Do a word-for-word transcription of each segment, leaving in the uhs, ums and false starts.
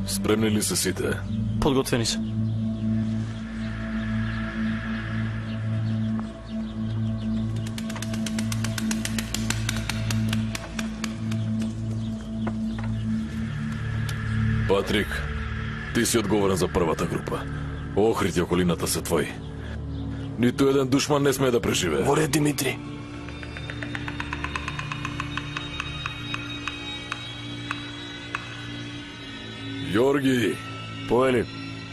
Спремни ли се сите? Подготвени се. Патрик, ти си одговорен за првата група. Охрид и околината се твои. Ниту еден душман не смее да преживее. Во ред, Димитри. Јорги, Поели.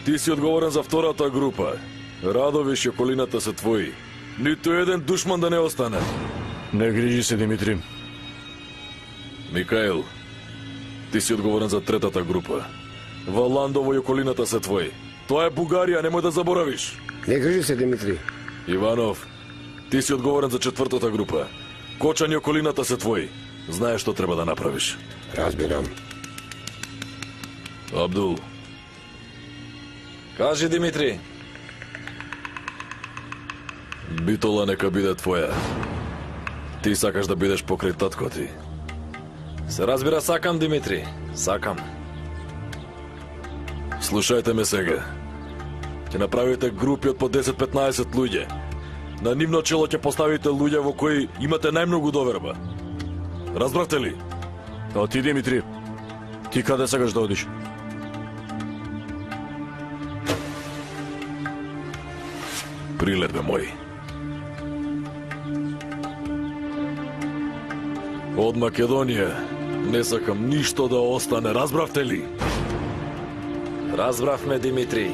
ти си одговорен за втората група. Радовиш и околината се твои. Ниту еден душман да не остане. Не грижи се, Димитри. Микаел, ти си одговорен за третата група. Валандово и околината се твои. Тоа е Бугарија, немој да заборавиш. Не грижи се, Димитри. Иванов, ти си одговорен за четвртата група. Кочан и околината се твои. Знаеш што треба да направиш. Разбирам. Абдул. Кажи, Димитри. Битола нека биде твоја. Ти сакаш да бидеш покрај татко ти. Се разбира, сакам, Димитри. Сакам. Слушајте ме сега. Ќе направите групи од по десет-петнаесет луѓе. На нивно чело ќе поставите луѓе во кои имате најмногу доверба. Разбравте ли? А ти, Димитри, ти каде сакаш да одиш? Прилет, бе мој. Од Македонија не сакам ништо да остане, разбравте ли? Разбравме, Димитри.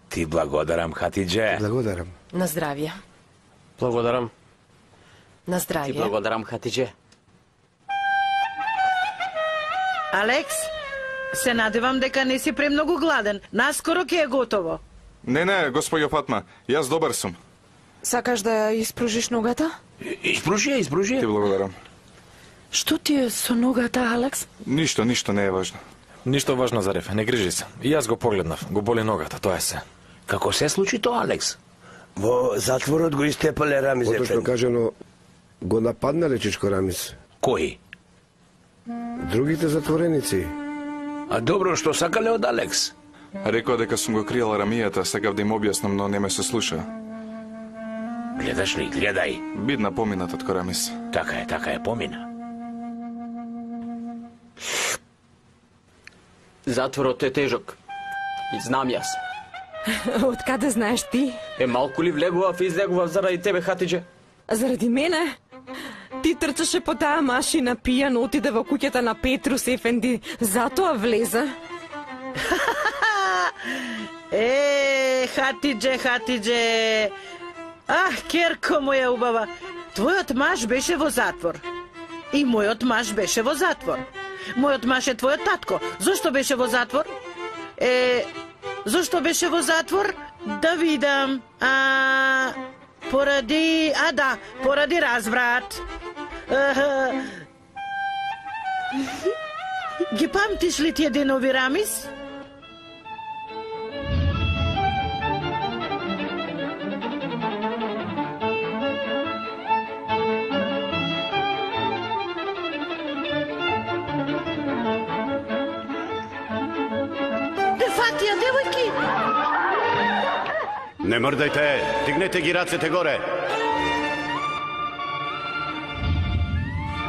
Ти благодарам, Хатидже. Благодарам. На здравје. Благодарам. На Ти здравје. благодарам, Хатидже. Алекс, се надевам дека не си премногу гладен. Наскоро ќе е готово. Не, не, господјо Фатма, јас добар сум. Сакаш да ја испружиш ногата? Испружи ја, испружи Ти ја. благодарам. Што ти е со ногата, Алекс? Ништо, ништо не е важно. Ништо важно за реф, не грижи се. И јас го погледнав, го боли ногата, тоа е се. Како се случи тоа, Алекс? Во затворот го истепале Рамис Ефенди. Поточно кажано, го нападнале Чичко Рамис. Кој? Другите затвореници. А добро, што сакале од Алекс? Рекоа дека сум го кријал Рамијата, сакав да им објаснам, но не ме се слуша. Гледаш ли, гледај. Бидна поминат од Рамис. Така е, така е, помина. Затворот е тежок. И знам јас. Од каде знаеш ти? Е, малку ли влегував и излегував заради тебе, Хатидже? Заради мене? Ти трчаше по таа машина пијан, отиде во куќата на Петрус Ефенди, затоа влезе. Е, Хатидже, Хатидже. Ах, керко моја убава. Твојот маж беше во затвор. И мојот маж беше во затвор. Мојот маж е твојот татко. Зошто беше во затвор? Е, зошто беше во затвор? Да видам. А, поради... А, да, поради разврат. А, ги памтиш ли тие денови, Рамис? Фатија, девојки! Не мрдајте, дигнете ги рацете горе.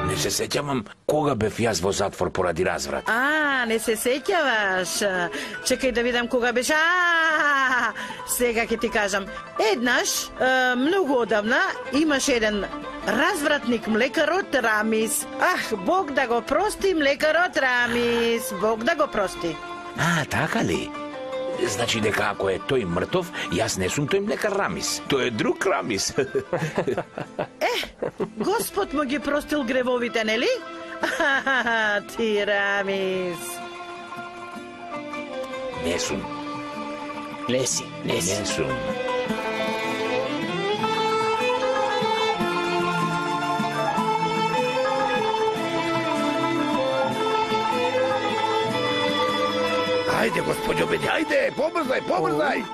Не се сеќавам кога бев јас во затвор поради разврат. А, не се сеќаваш. Чекај да видам кога беше. А, сега ќе ти кажам. Еднаш, е, многу одавна, имаш еден развратник млекарот Рамис. Ах, Бог да го прости млекарот Рамис. Бог да го прости. А, така ли? Значи дека ако е тој мртов, јас не сум тој млекар Рамис. Тој е друг Рамис. Е, Господ му ги простил гревовите, нели? Ахахаха, ти Рамис. Не сум. Не си, не си. Не сум. Ајде, господјо Беди, ајде, побрзај, побрзај.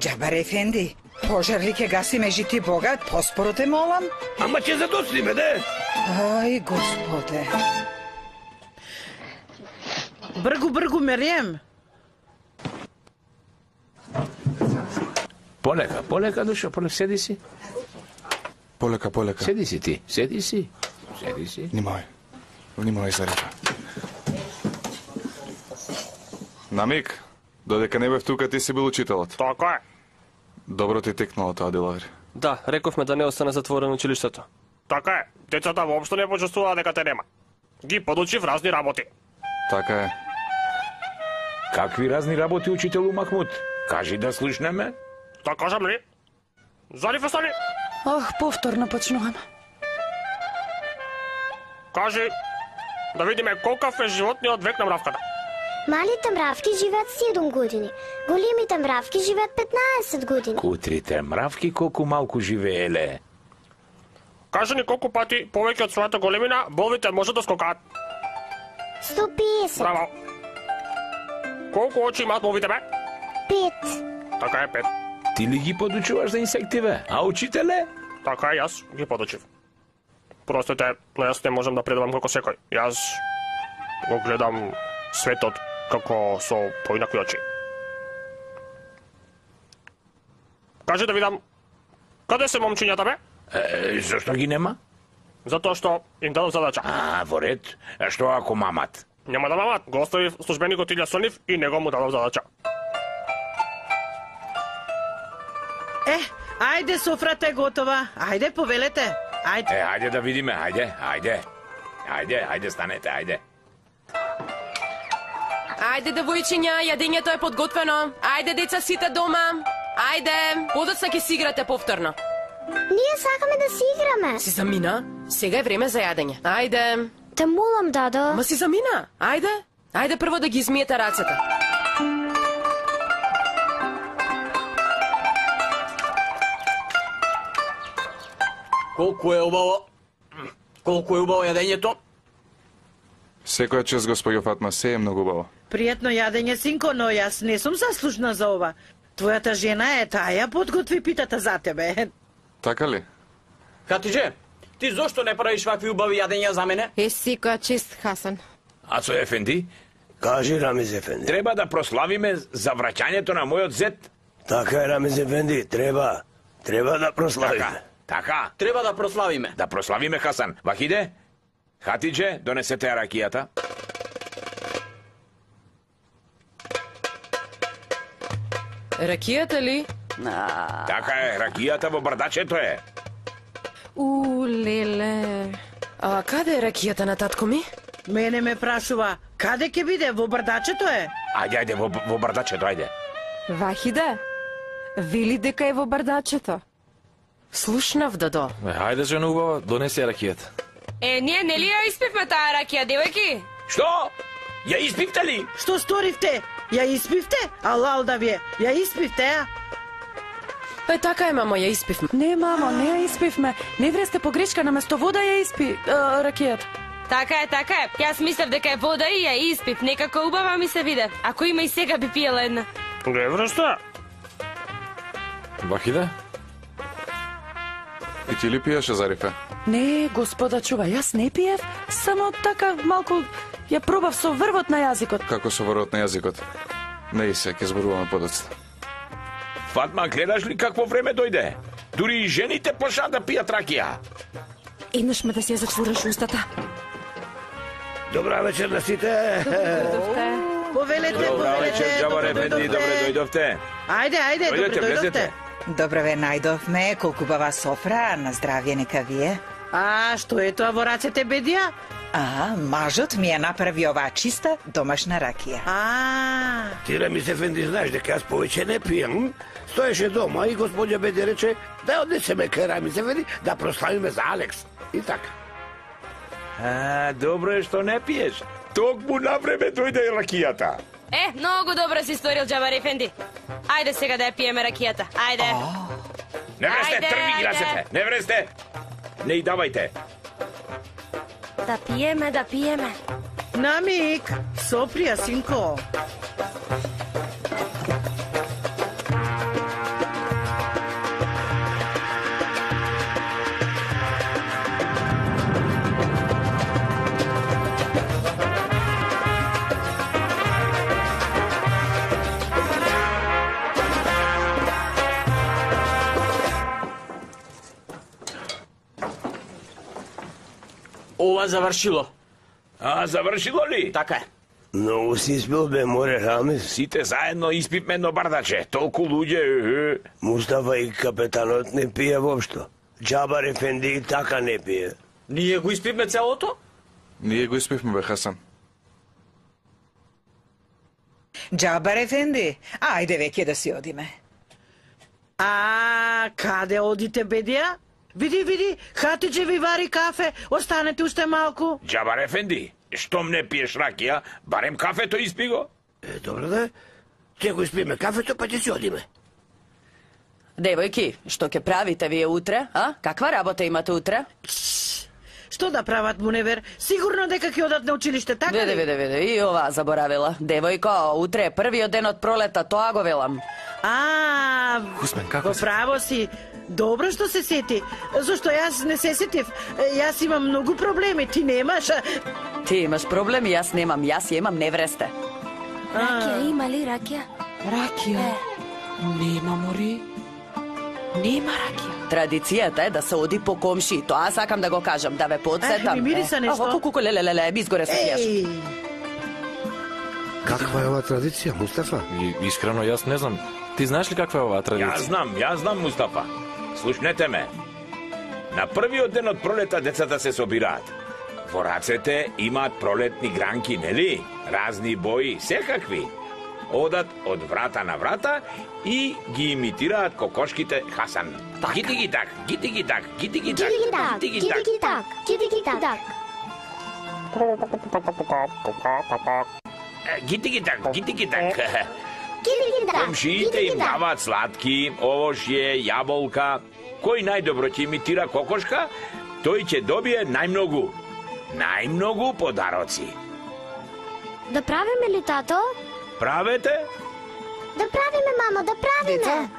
Џабар ефенди, пожар ли ке гаси межи богат, поспоро те молам. Ама ќе задоцниме, де? Ај, господе. Бргу, бргу, Мерием. Полека, полека, душа, полека, седи си. Полека, полека. Седи си ти, седи си. Седи си. Внимавај. Внимавај, Зарифа. Намик, додека не бев тука, ти си бил учителот. Така е. Добро ти текнало тоа, Дилаври. Да, рековме да не остане затворено училиштето. Така е. Децата воопшто не почувствуваа дека те нема. Ги подучив разни работи. Така е. Какви разни работи, учителу Махмуд? Кажи да слушнеме. Да кажам ли? Зарифа, стани. Ох, повторно почнуваме. Кажи, да видиме колкав е животниот век на мравката. Малите мравки живеат седум години. Големите мравки живеат петнаесет години. Кутрите мравки колку малку живееле. Кажи ни колку пати повеќе од својата големина болвите можат да скокаат. сто песет. Браво. Колку очи имаат болвите, бе? Пет. Така е, пет. Ти ли ги подучуваш за инсективе? А учителе? Така е, јас ги подучив. Простете, но јас не можам да предавам како секој. Јас го гледам светот како со поинакви очи. Кажи да видам, каде се момчињата, бе? Е, зашто ги нема? Затоа што им дадов задача. А, во ред. А што ако мамат? Нема да мамат, го оставив службеникот Илја Сонив и него му дадов задача. Е, ајде, софрата е готова. Ајде, повелете. Ајде. Е, ајде да видиме, ајде, ајде. Ајде, ајде, станете, ајде. Ајде, девојчиња, јадењето е подготвено. Ајде, деца, сите дома. Ајде, подоцна ќе си играте повторно. Ние сакаме да си играме. Си замина? Сега е време за јадење. Ајде. Те молам, дадо. Ма си замина. Ајде. Ајде прво да ги измиете рацете. Колку е убаво. Колку е убаво јадењето. Секоја чест, господјо Фатма, се е многу убаво. Пријатно јадење, синко, но јас не сум заслужна за ова. Твојата жена е таја подготви питата за тебе. Така ли? Хатидже, ти зошто не правиш вакви убави јадења за мене? Е, секоја чест, Хасан. Ацо Ефенди? Кажи, Рамиз Ефенди. Треба да прославиме за враќањето на мојот зет. Така е, Рамиз Ефенди, треба. Треба да прославиме. Така, така. Треба да прославиме. Да прославиме, Хасан. Вахиде, Хатидже, донесете ракијата. Ракијата ли? Така е, ракијата во бардачето е. У, леле. А каде е ракијата на татко ми? Мене ме прашува, каде ќе биде? Во бардачето е? Ајде, ајде, во, во бардачето, ајде. Вахиде, вели дека е во бардачето. Слушнав, дадо. Е, ајде, жена убава, донеси ракијата. Е, ние нели ја испивме таа ракија, девојки? Што? Ја испивте ли? Што сторивте? Ја испивте? Алал да вие, ја испивте, а? Е, така е, мамо, ја испивме. Не, мамо, не ја испивме. Не вресте погрешка, наместо вода ја испи а, ракијата. Така е, така е. Јас мислев дека е вода и ја испив. Некако убава ми се виде. Ако има и сега би пиела една. Не вршта. Вахиде? И ти ли пиеше, Зарифе? Не, господа, чува, јас не пиев, само така малку ја пробав со врвот на јазикот. Како со врвот на јазикот? Не и се, ќе зборуваме подоцна. Фатма, гледаш ли какво време дојде? Дури и жените почнаа да пијат ракија. Еднаш ме да си ја затвориш устата. Добра вечер на сите. Повелете, Добра вечер, повелете, Джабар добре Ефенди, добре дојдовте. Ајде, ајде, добре Дојдете, дојдовте. влезете. Добре ве најдовме, колку бава софра, на здравје нека вие. А, што е тоа во рацете, бедија? А, мажот ми ја направи оваа чиста домашна ракија. А, Тирамис Ефенди, знаеш дека јас повеќе не пијам. Стоеше дома и господја Беди рече да однесеме кај Рамис Ефенди да прославиме за Алекс. И така. А, добро е што не пиеш. Токму на време дојде и ракијата. Е, многу добро си сторил, Джабар Ефенди. Ајде сега да ја пиеме ракијата. Ајде. Не вресте, Ајде, трви ги ајде. рацете. Не вресте. Не и давајте. Да пиеме, да пиеме. намик, соприја, синко. Ова завршило. А, завршило ли? Така е. Многу си испил, бе, море Рамис. Сите заедно испивме едно бардаче. Толку луѓе. Мустафа и капетанот не пие воопшто. Джабар Ефенди и така не пие. Ние го испивме целото? Ние го испивме, бе, Хасан. Джабар Ефенди, ајде веќе да си одиме. А, каде одите, бедија? Види, види, Хатиџе ви вари кафе, останете уште малку. Джабар Ефенди, штом не пиеш ракија, барем кафето испи го. Е, добро да. Ќе го испиме кафето, па ќе си одиме. Девојки, што ќе правите вие утре, а? Каква работа имате утре? Што да прават, Муневер? Сигурно дека ќе одат на училиште, така Виде, ли? виде, виде, и ова заборавила. Девојко, утре е првиот ден од пролета, тоа го велам. А, Хусмен, како во си? право си. Добро што се сети. Зошто јас не се сетив? Јас имам многу проблеми, ти немаш. а- Ти имаш проблеми, јас немам, јас ја имам невресте. Ракија, има ли ракија? Ракија? Нема, мори. Нема ракија. Традицијата е да се оди по комши, тоа сакам да го кажам, да ве подсетам. Е, ми мириса нешто. Аво, куку, леле, леле, ми изгоре се пиеш. Еј, Каква е ова традиција, Мустафа? И, искрено, јас не знам. Ти знаеш ли каква е оваа Јас традиција? знам, јас знам, Мустафа. Слушнете ме. На првиот ден од пролета децата се собираат. Во рацете имаат пролетни гранки, нели? Разни бои, секакви. Одат од врата на врата и ги имитираат кокошките Хасан. Гиди ги так, гиди ги так, гиди ги так, Кидики-так, гиди ги так. кидики-так, кидики-так. Е, Гиди ги так, гиди ги так. Кидики-так, Комшиите им кидики-так. даваат сладки, овошје, јаболка. Кој најдобро ќе имитира кокошка, тој ќе добие најмногу. Најмногу подароци. Да правиме ли, тато? Правете? Да правиме, мамо, да правиме.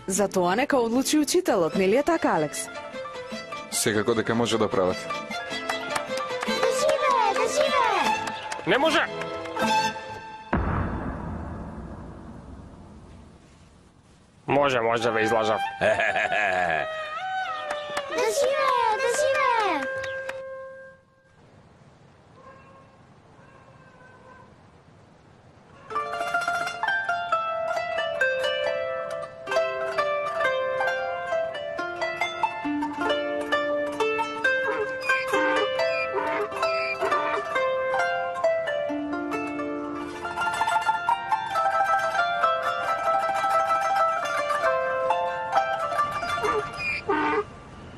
За тоа нека одлучи учителот, нели е така, Алекс? Секако дека може да прават. Да живее, да живее. Не може! Може, може да ве излажав. Да живее, да живее.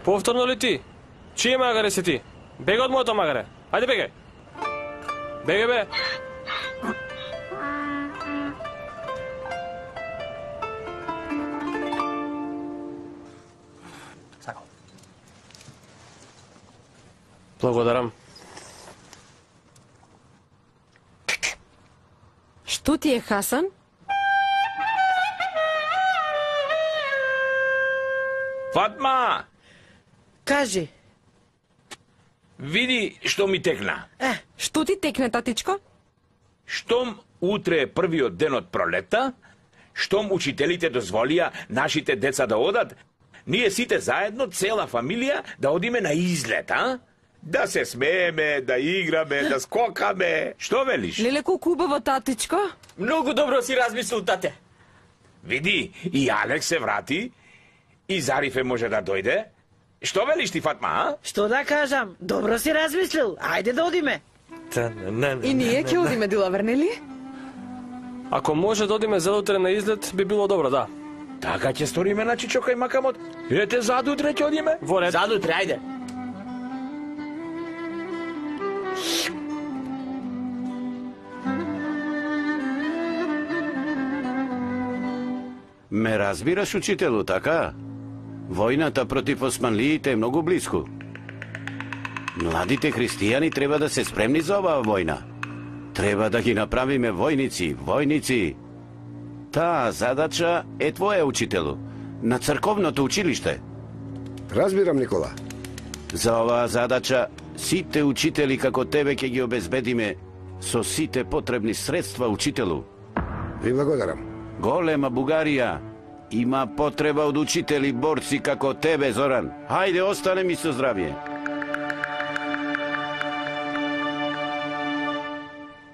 Повторно ли ти? Чие магаре си ти? Бега од моето магаре. Ајде бегај. Бегај бе. Благодарам. Што ти е, Хасан? Фатма, кажи. види што ми текна. Е, Што ти текне, татичко? Штом утре е првиот ден од пролета, штом учителите дозволија нашите деца да одат, Ние сите заедно, цела фамилија, да одиме на излет, а? Да се смееме, да играме, да скокаме. Што велиш? Леле, колку убаво, татичко. Многу добро си размислил, тате. Види, и Алекс се врати, и Зарифе може да дојде. Што велиш ти, Фатма, а? Што да кажам? Добро си размислил. Ајде да одиме. И ние ќе одиме, Дилавер, нели? Ако може да одиме задутре на излет, би било добро, да. Така ќе сториме на Чичока и Макамот. Ете, задутре ќе одиме? Во ред. Задутре, ајде. Ме разбираш, учителу, така? Војната против османлиите е многу близко. Младите христијани треба да се спремни за оваа војна. Треба да ги направиме војници, војници. Таа задача е твоја, учителу, на црковното училиште. Разбирам, Никола. За оваа задача сите учители како тебе ќе ги обезбедиме со сите потребни средства, учителу. Ви благодарам. Голема Бугарија има потреба од учители борци како тебе, Зоран. Хајде, остане ми со здравје.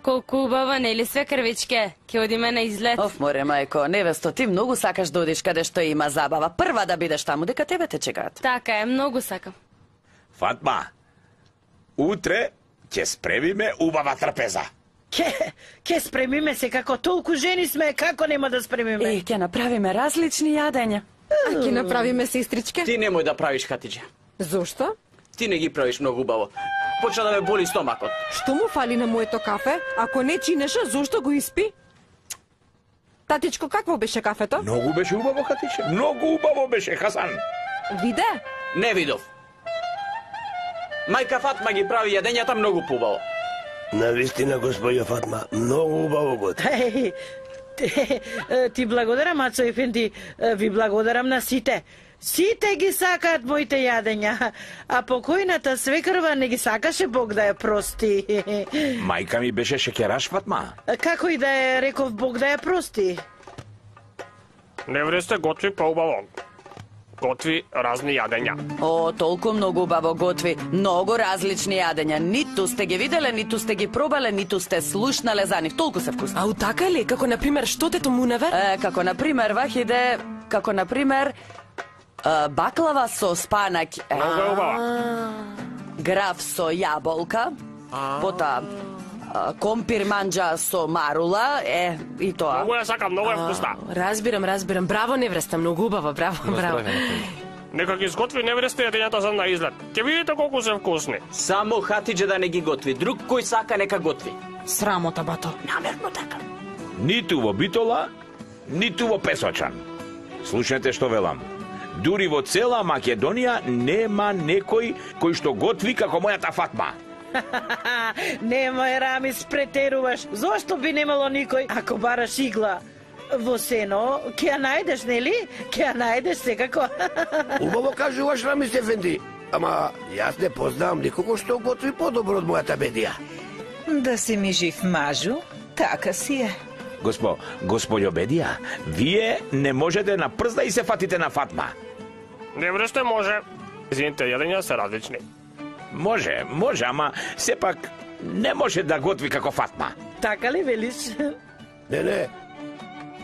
Колку убаво, нели све, крвичке? Ке одиме на излет. Оф, море, мајко, невесто, ти многу сакаш да одиш каде што има забава. Прва да бидеш таму, дека тебе те чекаат. Така е, многу сакам. Фатма, утре ќе спремиме убава трпеза. Ке, ке спремиме се, како толку жени сме, како нема да спремиме? Е, ќе направиме различни јадења. А ќе направиме, сестричке? Ти немој да правиш, Хатиџе. Зошто? Ти не ги правиш многу убаво. Почна да ме боли стомакот. Што му фали на моето кафе? Ако не чинеша, зошто го испи? Татичко, какво беше кафето? Многу беше убаво, Хатиџе. Многу убаво беше, Хасан. Виде? Не видов. Мајка Фатма ги прави јадењата многу поубаво. Навистина, господја Фатма, многу убаво го. Еј, ти, ти благодарам, Ацо Ефенди, ви благодарам на сите. Сите ги сакаат моите јадења, а покојната свекрва не ги сакаше, Бог да ја прости. Мајка ми беше шекераш, Фатма. Како и да е, реков Бог да ја прости. Не вресте готви поубаво. Готви разни јадења. О, толку многу убаво готви, многу различни јадења. Ниту сте ги виделе, ниту сте ги пробале, ниту сте слушнале за нив. Толку се вкусни. Ау, така ли? Како, например, што те томуневе? Е, како, например, вахиде, како, например, е, баклава со спанаќ. Многу е убава. Граф со јаболка, потоа компир манџа со марула, е, и тоа. Многу ја сакам, многу е вкусна. Разбирам, разбирам. Браво, невреста, многу убаво, браво, браво. Нека ги изготви невресте јадењата за на излет. Ќе видите колку се вкусни. Само Хатиџе да не ги готви. Друг кој сака нека готви. Срамота, бато. Намерно така. Ниту во Битола, ниту во Песочан. Слушнете што велам. Дури во цела Македонија нема некој кој што готви како мојата Фатма. Немој, Рамис, претеруваш. Зошто би немало никој, ако бараш игла во сено, ќе ја најдеш, нели? Ќе ја најдеш секако. Убаво кажуваш, Рамис Ефенди. Ама јас не познавам никого што готви подобро од мојата Бедија. Да си ми жив, мажу, така си е. Госпо, господјо Бедија, вие не можете на прст да и се фатите на Фатма. Невресте може. Зините јадења се различни. Може, може, ама сепак не може да готви како Фатма. Така ли велиш? Не, не.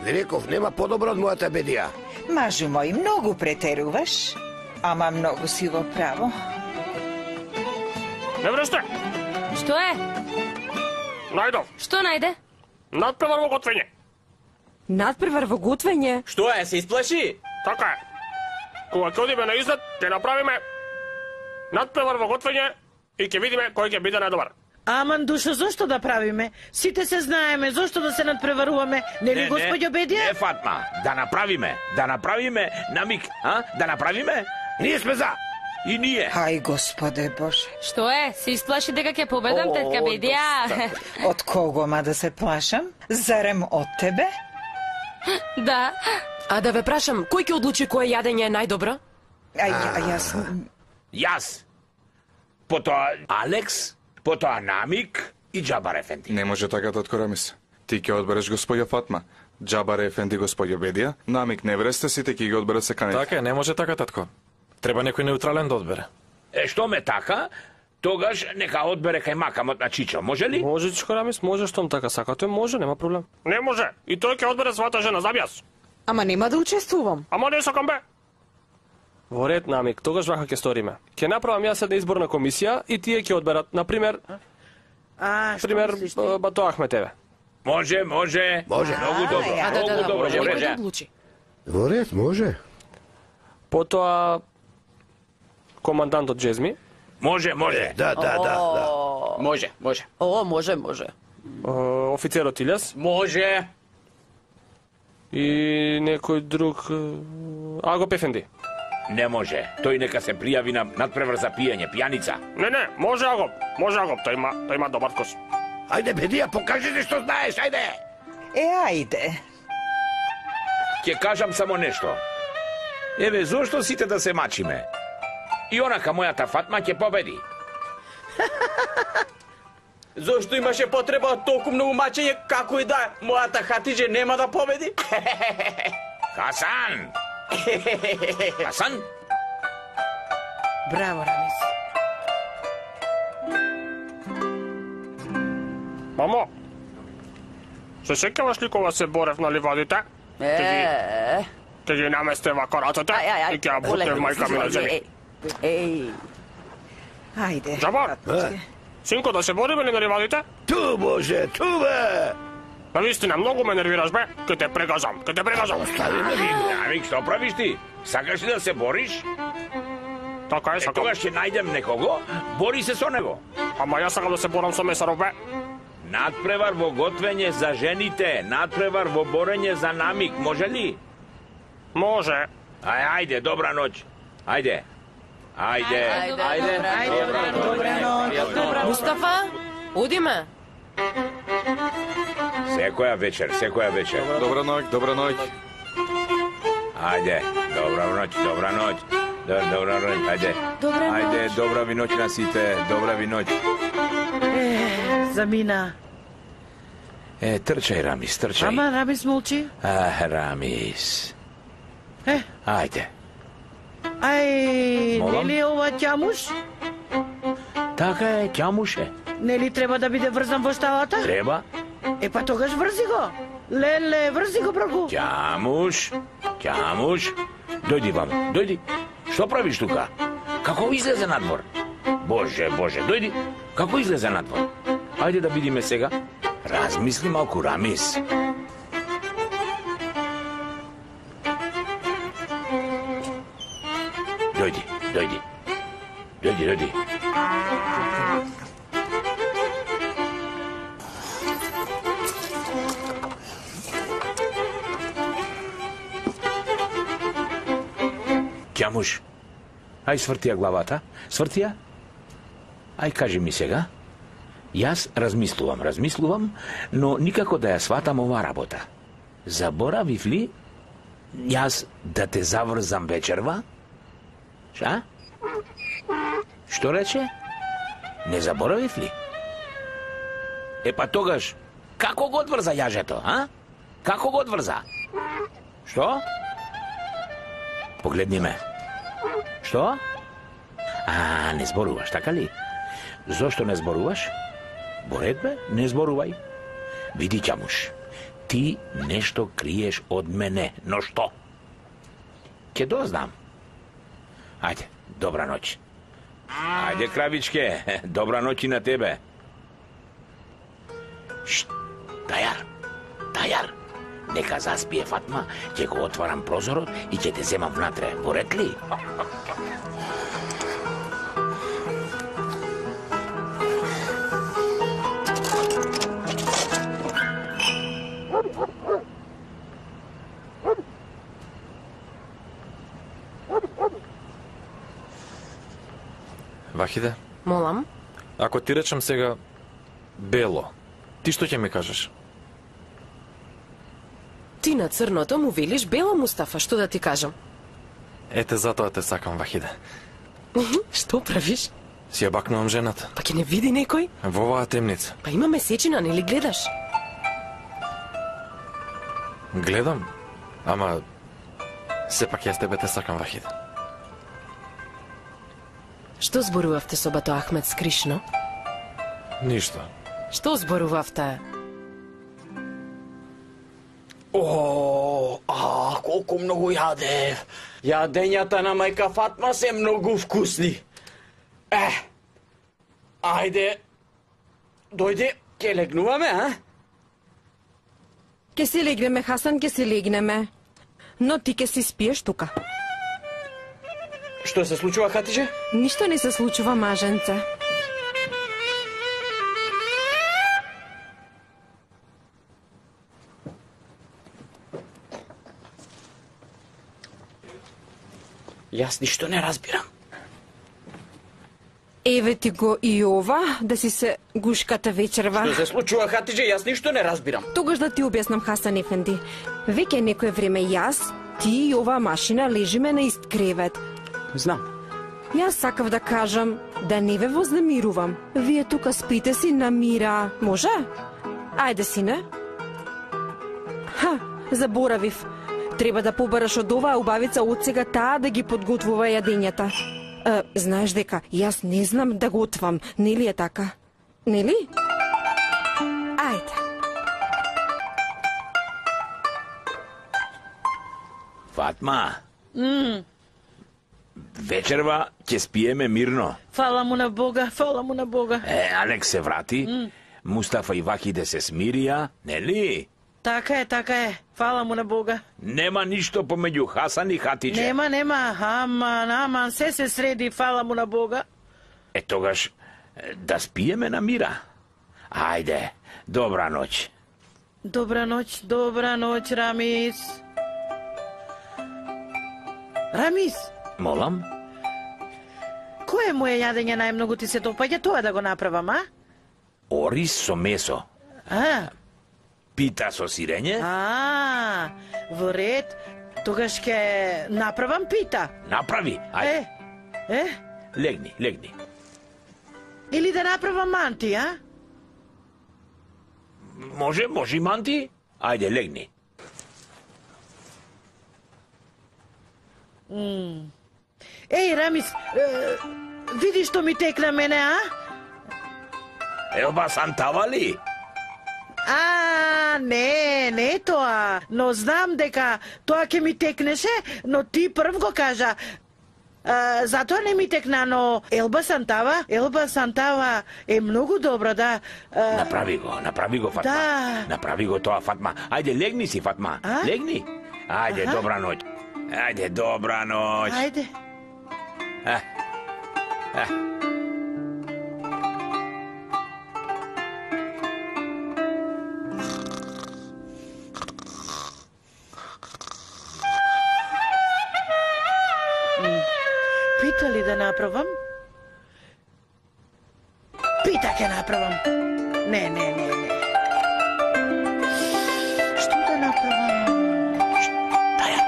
Реков, нема подобро од мојата Бедија. Мажу мој, многу претеруваш, ама многу си во право. Невресте, Што е? најдов. Што најде? Надпревар во готвење. Надпревар во готвење? Што е, се исплаши? Така е. Кога ќе одиме на излет, ќе направиме надпревар во готвење и ќе видиме кој ќе биде најдобар. Аман, душо, зошто да правиме? Сите се знаеме, зошто да се надпреваруваме? Нели, господјо Бедија? Не, Фатма, да направиме, да направиме на миг, а? Да направиме? Ние сме за. И ние. Ај, Господе Боже. Што е? Се исплаши дека ќе победам, тетка Бедија? Од кого ма да се плашам? Зарем од тебе? Да. А да ве прашам, кој ќе одлучи кое јадење е најдобро? Ај, а јас... Јас. Потоа Алекс, потоа Намик и Џабар Ефенди. Не може така, татко Рамис. Ти ќе одбереш господја Фатма, Џабар Ефенди господја Бедија, намик не вресте сите ќе ги одберат секаните. Така е, не може така, татко. Треба некој неутрален да одбере. Е, што ме така? Тогаш нека одбере кајмакамот на Чичо, може ли? Може, Чичко Рамис, може, штом така сакате, може, нема проблем. Не може, и тој ќе одбере својата жена, забјас. Ама нема да учествувам. Ама не сакам бе. Во ред, намик, тогаш вака ќе сториме. Ќе направам јас една изборна комисија и тие ќе одберат, на пример, А, што пример, мислиш ти? Бато Ахметеве. Може, може. Може. Многу добро, Да, да, многу да, добро, може, во некој ред. да одлучи. Во ред, може. Потоа командантот Джезми. Може, може. Да, да, да, да. Може, може. О, може, може. Е, офицерот Илјас Може. и некој друг е, Агоп Ефенди. Не може. Тој нека се пријави на надпревар за пиење, пијаница. Не, не, може Агоп, може Агоп, тој има, тој има добар вкус. Ајде, Бедија, покажи се што знаеш, ајде. Е, ајде. Ќе кажам само нешто. Еве, зошто сите да се мачиме? И онака мојата Фатма ќе победи. Зошто имаше потреба од толку многу мачење, како и да е, мојата Хатидже нема да победи? Хасан! Хасан? Браво, Рамис. Мамо, се сеќаваш ли кога се борев на ливадите? Е, Ке ги наместе вака рацете ај, ај, ај. и ке ја бутне мајка ми на земја. Еј, Ајде. Џабар, синко, да се бориме ли на ливадите? Ту, Боже, ту, бе. На вистина, многу ме нервираш, бе. Ке те прегазам, ке те прегазам. Амик, што правиш ти? Сакаш ли да се бориш? Така е, Е, сакам. тогаш ќе најдем некого, бори се со него. Ама јас сакам да се борам со Месаров, бе. Надпревар во готвење за жените, надпревар во борење за намик, може ли? Може. Ај, ајде, добра ноќ. Ајде. Ајде. Ајде. Ајде, добра ноќ. Мустафа, удиме. Секоја вечер, секоја вечер. Добра ноќ, добра ноќ. Ајде, добра ноќ, добра ноќ. Добра, добра ноќ, ајде. Добра Ајде, ноќ. добра ви ноќ на сите, добра ви ноќ. Е, замина. Е, трчај, Рамис, трчај. Ама Рамис молчи. А, Рамис. Е, Ајде. ај, Молам? нели е ова ќамуш? Така е, ќамуше. Нели треба да биде врзан во шталата? Треба? Е, па тогаш врзи го. Леле, врзи го, браку. Ќамуш, ќамуш. Дојди вам, дојди. Што правиш тука? Како излезе надвор? Боже, боже, дојди. Како излезе надвор? Ајде да видиме сега. Размисли малку, Рамис. Дојди, дојди. Дојди, дојди. Ќамуш, ај свртија главата, свртија. Ај кажи ми сега. Јас размислувам, размислувам, но никако да ја сватам оваа работа. Заборавив ли јас да те заврзам вечерва? Ша? Што рече? Не заборавив ли? Е па тогаш, како го одврза јажето, а? Како го одврза? Што? Погледни ме. Што? А, не зборуваш, така ли? Зошто не зборуваш? Боред бе, не зборувај. Види, ќамуш, ти нешто криеш од мене, но што? Ќе дознам. Ајде, добра ноќ. Ајде, кравичке, добра ноќ и на тебе. Шт, Тајар, Тајар, нека заспие Фатма, ќе го отварам прозорот и ќе те земам внатре, поред ли? Вахиде, Молам? ако ти речам сега бело, ти што ќе ми кажеш? Ти на црното му велиш бело, Мустафа, што да ти кажам? Ете, затоа те сакам, Вахиде. Што правиш? Си ја бакнувам жената. Па ќе не види некој? Во оваа темница. Па има месечина, нели гледаш? Гледам, ама сепак јас тебе те сакам, Вахид. Што зборувавте со бато Ахмед скришно? Ништо. Што зборувавте? О, а, колку многу јадев. Јадењата на мајка Фатма се многу вкусни. Е, ајде, дојде, ке легнуваме, а? Ке си легнеме, Хасан, ке си легнеме. Но ти ке си спиеш тука. Што се случува, Хатиже? Ништо не се случува, маженце. Јас ништо не разбирам. Еве ти го и ова, да си се гушката вечерва. Што се случува, Хатиже? Јас ништо не разбирам. Тогаш да ти објаснам, Хасан ефенди. Веќе некое време јас, ти и ова машина лежиме на ист кревет. Знам. Јас сакав да кажам да не ве вознемирувам. Вие тука спите си на мира. Може? Ајде, сине. Ха, заборавив. Треба да побараш од оваа убавица од сега таа да ги подготвува јадењата. Е, знаеш дека јас не знам да готвам, нели е така? Нели? Ајде. Фатма, Mm, вечерва ќе спиеме мирно. фала му на Бога, фала му на Бога. Е, Алекс се врати, Mm. Мустафа и Вахиде се смирија, нели? Така е, така е. Фала му на Бога. Нема ништо помеѓу Хасан и Хатиџе. Нема, нема. Аман, аман, се се среди, фала му на Бога. Е, тогаш е, да спиеме на мира. Ајде, добра ноќ. Добра ноќ, добра ноќ, Рамис. Рамис, Молам? кое моје јадење најмногу ти се допаѓа, тоа да го направам, а? Орис со месо. А, Пита со сирење? а, во ред, тогаш ќе направам пита. Направи, ајде. Е, е, Легни, легни. или да направам манти, а? Може, може и манти? Ајде, легни. М. Еј, Рамис, е, види што ми текна мене, а? Елба сантава ли? А, не, не тоа, но знам дека тоа ќе ми текнеше, но ти прв го кажа. А, затоа не ми текна, но Елба Сантава, Елба Сантава е многу добра, да. А, Направи го, направи го, Фатма. Да. Направи го тоа, Фатма. Ајде, легни си, Фатма. А? Легни. Ајде, Аха. добра ноќ. Ајде, добра ноќ. Ајде. А. А. Пита ли да направам? Пита ќе направам. Не, не, не, не. Што да направам? Тајар.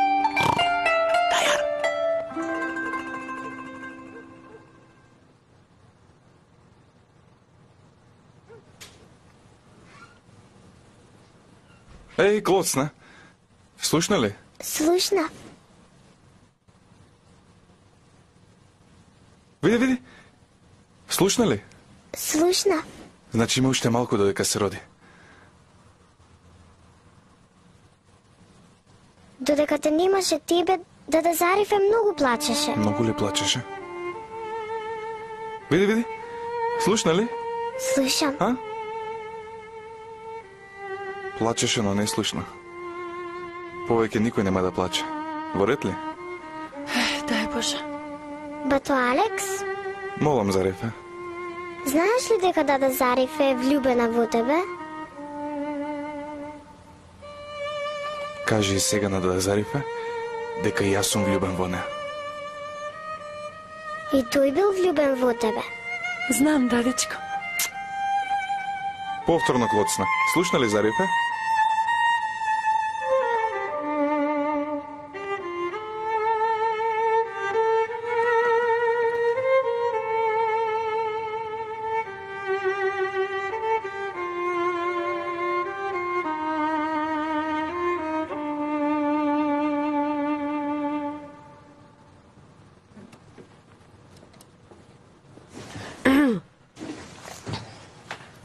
Тајар. Еј, Клоцна, слушна ли? Слушна. Види, види. Слушна ли? Слушна. Значи има уште малку додека се роди. Додека те немаше тебе, Дада Зариф е многу плачеше. Многу ли плачеше? Види, види. Слушна ли? Слушам. А? Плачеше, но не слушна. Повеќе никој нема да плаче. Во ред ли? Дај Боже. Бато Алекс, Молам, Зарифе. знаеш ли дека Дада Зариф е влюбена во тебе? Кажи и сега на Дада Зарифе дека и јас сум влюбен во неа. И тој бил влюбен во тебе. Знам, дадичко. Повторно, Клоцна. Слушна ли, Зарифе?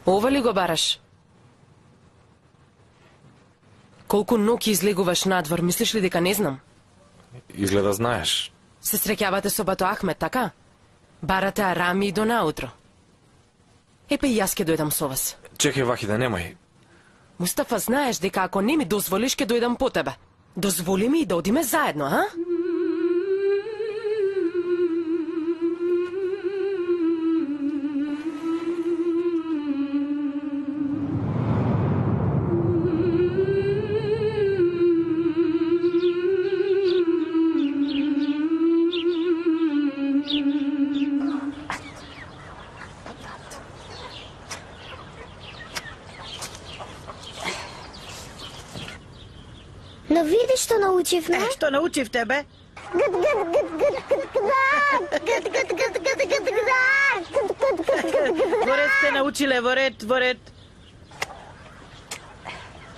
Ова ли го бараш? Колку ноќи излегуваш надвор, мислиш ли дека не знам? Изгледа знаеш. Се среќавате со Бато Ахмет, така? Барате арами и до наутро. Епе и јас ке дојдам со вас. Чекај, Вахиде, немој. Мустафа, знаеш дека ако не ми дозволиш, ке дојдам по тебе. Дозволи ми и да одиме заедно, а? Но види што научивме. Е, што научивте, бе? Гд, гд, гд, гд, гд, гд, гд, гд, гд, гд, гд. Во ред сте научиле, во ред, во ред.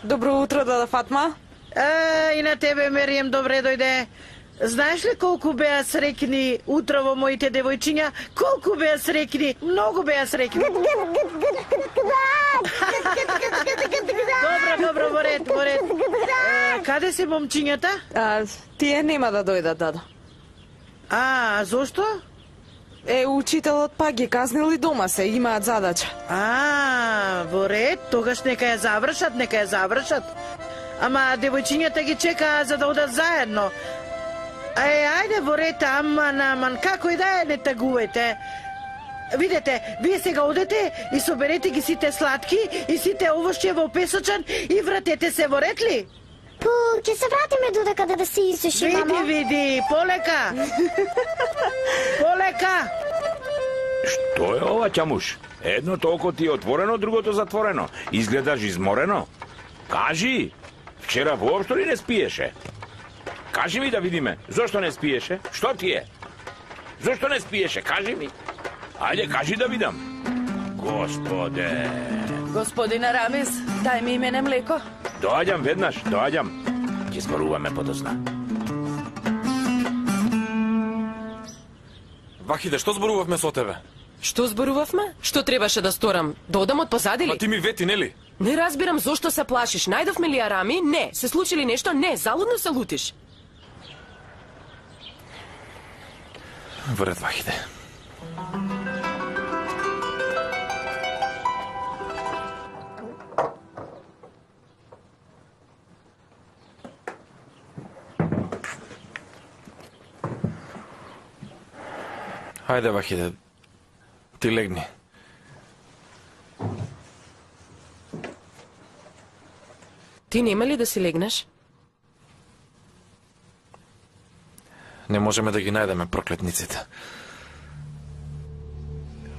Добро утро, Дада Фатма. Е, и на тебе, Мерием, добре дојде. Знаеш ли колку беа срекни утрово моите девојчиња? Колку беа срекни? Многу беа срекни. Добро, добро, во ред, во ред. Е, каде се момчињата? А, тие нема да дојдат, Дада. А, зошто? Е, учителот пак ги казнил и дома се, имаат задача. А, во ред, тогаш нека ја завршат, нека ја завршат. Ама девојчињата ги чекаа за да одат заедно. Е, ајде во ред, аман, аман, како и да е, не тагувајте. Видете, вие сега одете и соберете ги сите сладки и сите овошје во песочан и вратете се во ред ли? Пу, ќе се вратиме додека да да се исуши, види, мамо. Види, види, полека. Полека. Што е ова, Ќамуш? Едното око ти е отворено, другото затворено. Изгледаш изморено. Кажи, вчера воопшто ли не спиеше? Кажи ми да видиме, зошто не спиеше? Што ти е? Зошто не спиеше? Кажи ми. Ајде, кажи да видам. Господе. Господина Рамис, дај ми имене млеко. Доаѓам веднаш, доаѓам. Ќе зборуваме подосна. Вахиде, што зборувавме со тебе? Што зборувавме? Што требаше да сторам? Да одам од позади ли? Ма ти ми вети, нели? Не разбирам зошто се плашиш. Најдовме ли арами? Не. Се случи ли нешто? Не. Залудно се лутиш. Во ред, Вахиде. Хајде, Вахиде. Ти легни. Ти нема ли да си легнеш? Не можеме да ги најдеме проклетниците.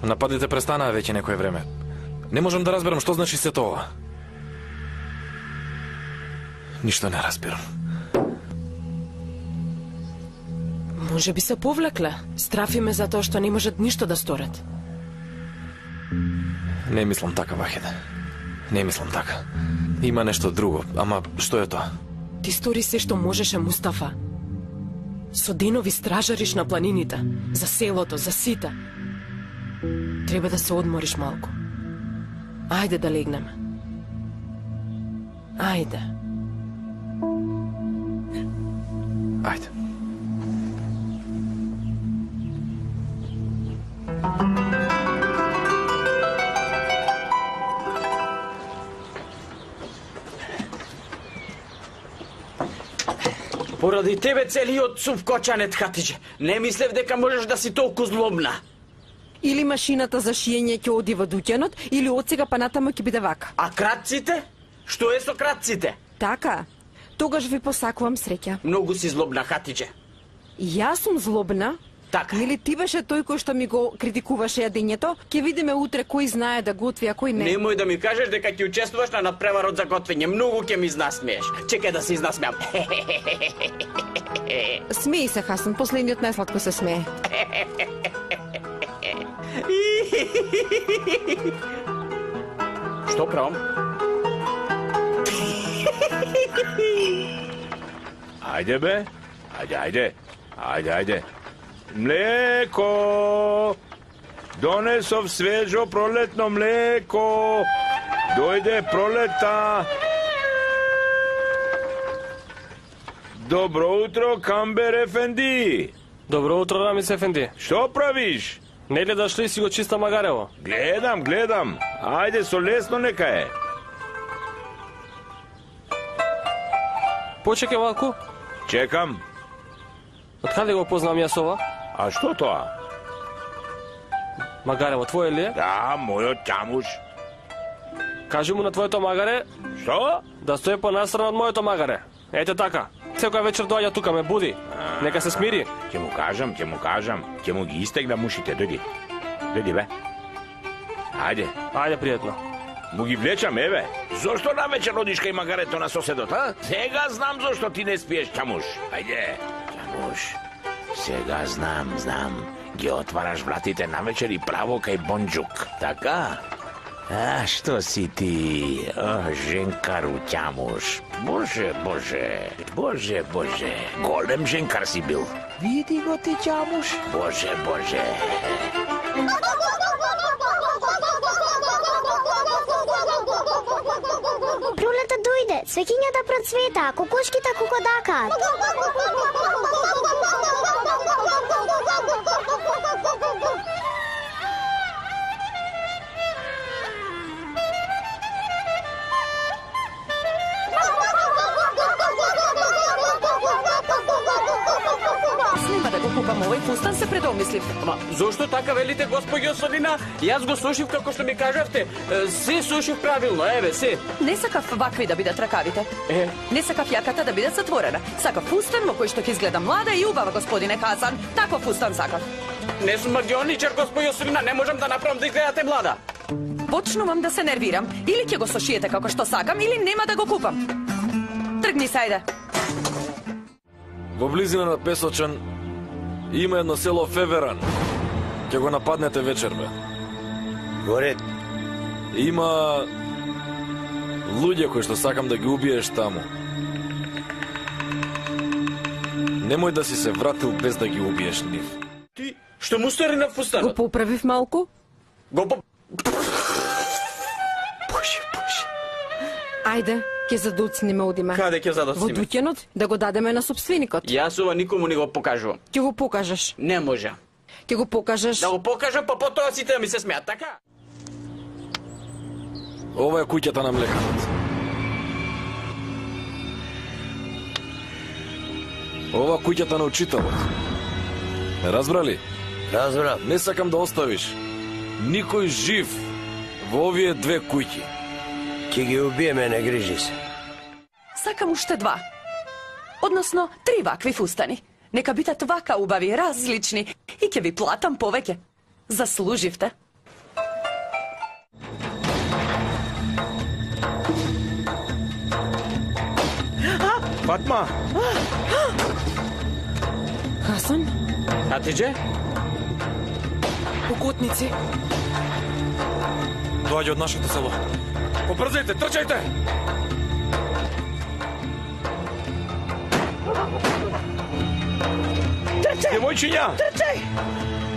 Нападите престанаа веќе некое време. Не можам да разберам што значи сето ова. Ништо не разбирам. Може би се повлекле. Страфи ме за тоа што не можат ништо да сторат. Не мислам така, Вахиде. Не мислам така. Има нешто друго, ама што е тоа? Ти стори се што можеше, Мустафа. Со денови стражариш на планините, за селото, за сите. Треба да се одмориш малку. Ајде да легнеме. Ајде. Ајде. Поради тебе целиот сув кочанет, Хатиџе. Не мислев дека можеш да си толку злобна. Или машината за шиење ќе оди во дуќанот, или од сега па натаму ќе биде вака. А кратците? Што е со кратците? Така. Тогаш ви посакувам среќа. Многу си злобна, Хатиџе. Јас сум злобна? Така. Нели ти беше тој кој што ми го критикуваше јадењето? Ќе видиме утре кој знае да готви, а кој не. Немој да ми кажеш дека ќе учествуваш на надпреварот за готвење. Многу ќе ми изнасмееш. Чекај да се изнасмеам. Смеј се, Хасан, последниот најсладко се смее. Што правам? Ајде бе, ајде, ајде, ајде, ајде. Млеко! Донесов свежо пролетно млеко. Дојде пролета. Добро утро, Камбер Ефенди. Добро утро, Рамис Ефенди. Што правиш? Не гледаш ли си го чиста магарево? Гледам, гледам. Ајде, со лесно нека е. Почекай малку. Чекам. Од каде го познам јас ова? А што тоа? Магарево твое ли е? Да, мојот ќамуш. Кажи му на твоето магаре... Што? Да стои понастрана од моето магаре. Ете така. Секоја вечер доаѓа тука, ме буди. Нека се смири. Ќе му кажам, ќе му кажам. Ќе му ги истегнам ушите, дојди. Дојди, бе. Ајде. Ајде, пријатно. Му ги влечам, еве. Зошто на вечер одиш кај магарето на соседот, а? Сега знам зошто ти не спиеш, ќамуш. Ајде. Ќамуш. Сега знам, знам. Ги отвараш вратите на вечер и право кај Бонџук. Така? А, што си ти? О, женкару ќамуш. Боже, боже. Боже, боже. Голем женкар си бил. Види го ти, ќамуш. Боже, боже. Пролета дојде, свеќињата процвета, кокошките кукодакаат. Нема да го купам овој фустан, се предомислив. Ама, зошто така велите, господјо Солина? Јас го сушив како што ми кажавте. Е, Се сушив правилно, еве, се. Не сакав вакви да бидат ракавите. Е. Не сакав јаката да биде затворена. Сакав фустан во кој што ќе изгледа млада и убава, господине Хасан. Таков фустан сакав. Не сум магионичар, господјо Солина, не можам да направам да изгледате млада. Почнувам да се нервирам. Или ќе го сошиете како што сакам, или нема да го купам. Тргни се, ајде. Во близина на Песочан има едно село Феверан. Ќе го нападнете вечер, бе. Горед. Има луѓе кои што сакам да ги убиеш таму. Немој да си се вратил без да ги убиеш нив. Ти, што му стори на фустанот? Го поправив малку. Го по... Боже, боже. Ајде, ќе задуцниме одиме. Каде ќе задуцниме? Во дуќанот, да го дадеме на собственикот. Јас ова никому не го покажувам. Ќе го покажеш. Не може. Ќе го покажеш. Да го покажам, па потоа сите да ми се смеат, така? Ова е куќата на млекарот. Ова куќата на учителот. Разбрали? Разбрав. Не сакам да оставиш никој жив во овие две куќи. Ќе ги убиеме, не грижи се. Сакам уште два. Односно, три вакви фустани. Нека бидат вака убави, различни и ќе ви платам повеќе. Заслуживте. Фатма! Хасан? Хатидже? Покутници. Доаѓа од нашето село. Побрзајте, трчајте! Трчај! Девојчиња! Трчај!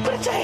Трчај!